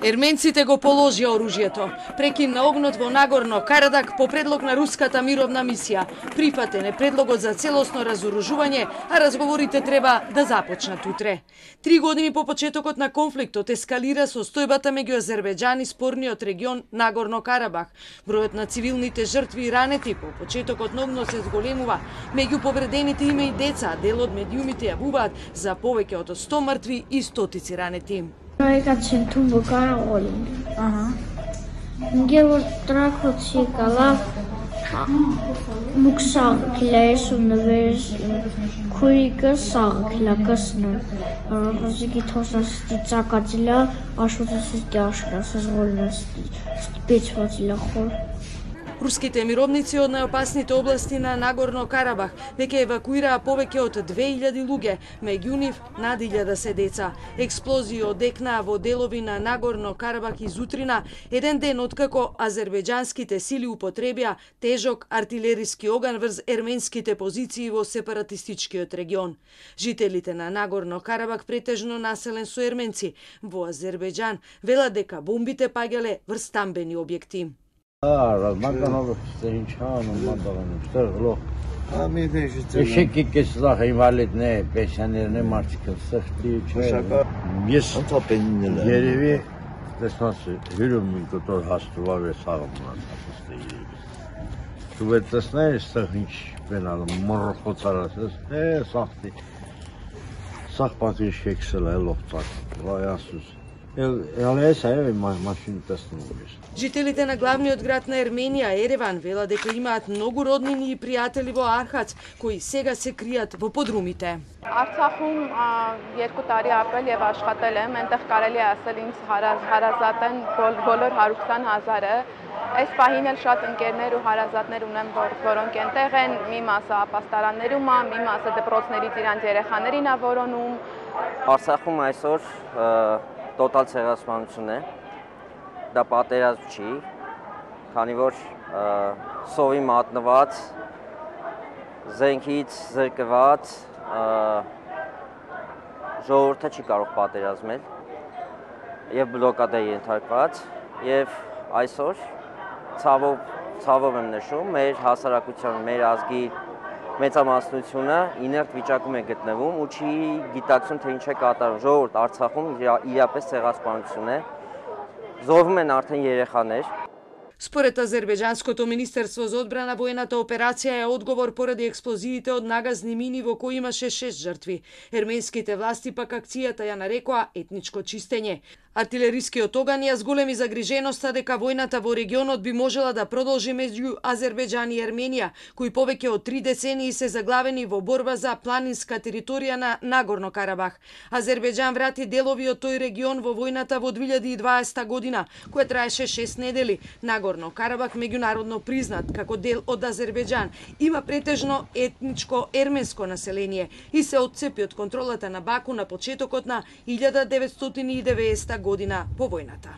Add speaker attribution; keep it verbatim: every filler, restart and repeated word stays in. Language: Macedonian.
Speaker 1: Ерменците го положија оружјето. Прекин на огнот во Нагорно Карабах по предлог на руската мировна мисија. Прифатен е предлогот за целосно разоружување, а разговорите треба да започнат утре. Три години по почетокот на конфликтот ескалира состојбата меѓу Азербејџан и спорниот регион Нагорно Карабах. Бројот на цивилните жртви и ранети по почетокот на огнот се зголемува. Меѓу повредените има и деца, дел од медиумите јавуваат за повеќе од сто мртви и стотици ранети.
Speaker 2: Проекацин тумбо караолин. Ага. Геор тракоци кала муксаг клесун вес куика саг клакасна. Разики тосас тицакатила ашутас тяшкас зголнас печватила хор.
Speaker 1: Руските мировници од најопасните области на Нагорно Карабах веќе евакуираа повеќе од две илјади луѓе, меѓу нив над илјада се деца. Експлозии одекнаа во делови на Нагорно Карабах изутрина, еден ден откако азербејџанските сили употребија тежок артилериски оган врз ерменските позиции во сепаратистичкиот регион. Жителите на Нагорно Карабах, претежно населен со ерменци во Азербејџан, велат дека бомбите паѓале врз стамбени објекти.
Speaker 3: Ара, мандано стенчано, мандано стерло. А ми вежите. Eşek keslah invalid ne, pensioner ne marçıkın sıhtı çay. Yes. Antapenler. Yerevi desması hürüm kotor hastuva ve sağımlar hastayı. Şubetasne sıhınç benalım morxo çarasız. E sahtı. Sahpatı şeksel eloftar. Vayasız.
Speaker 1: Жителите на главниот град на Ерменија, Ереван, велат дека имаат многу роднини и пријатели во Архац, кои сега се кријат во подрумите.
Speaker 4: Արցախում երկու տարի ապրել եւ աշխատել եմ, այնտեղ կարելի է ասել ինձ հարազատ են բոլոր հարյուր քսան հազարը։ Այս պահին էլ շատ ընկերներ ու հարազատներ ունեմ, որոնք այնտեղ են, մի մասը ապաստարաններում է, մի մասը դպրոցներից իրանց երեխաներին է որոնում։
Speaker 5: Արցախում այսօր տոտալ ցեղասպանություն է, դա պատերազմ չի, քանի որ սովի մատնված, զենքից զրկված ժողովուրդը չի կարող պատերազմել եւ բլոկադ է ենթարկված եւ այսօր ցավով ցավով եմ նշում մեր հասարակության, մեր ազգի մեծամասնությունը իներտ վիճակում է գտնվում ու չի գիտակցում թե ինչ է կատարում։ Ժողովուրդ Արցախում իրապես ցեղասպանություն է։ Զոհվում են արդեն երեխաներ։
Speaker 1: Според Азербејџанското министерство за одбрана, воената операција е одговор поради експлозиите од нагазни мини во кои имаше шест жртви. Ерменските власти пак акцијата ја нарекоа етничко чистење. Артилерискиот оган ја зголеми загриженоста дека војната во регионот би можела да продолжи меѓу Азербејџан и Ерменија, кои повеќе од три децении се заглавени во борба за планинска територија на Нагорно Карабах. Азербејџан врати делови од тој регион во војната во две илјади и дваесета година, која траеше шест недели. Нагорно Карабах, меѓународно признат како дел од Азербејџан, има претежно етничко ерменско население и се отцепи од контролата на Баку на почетокот на илјада деветстотини и деветдесета година по војната.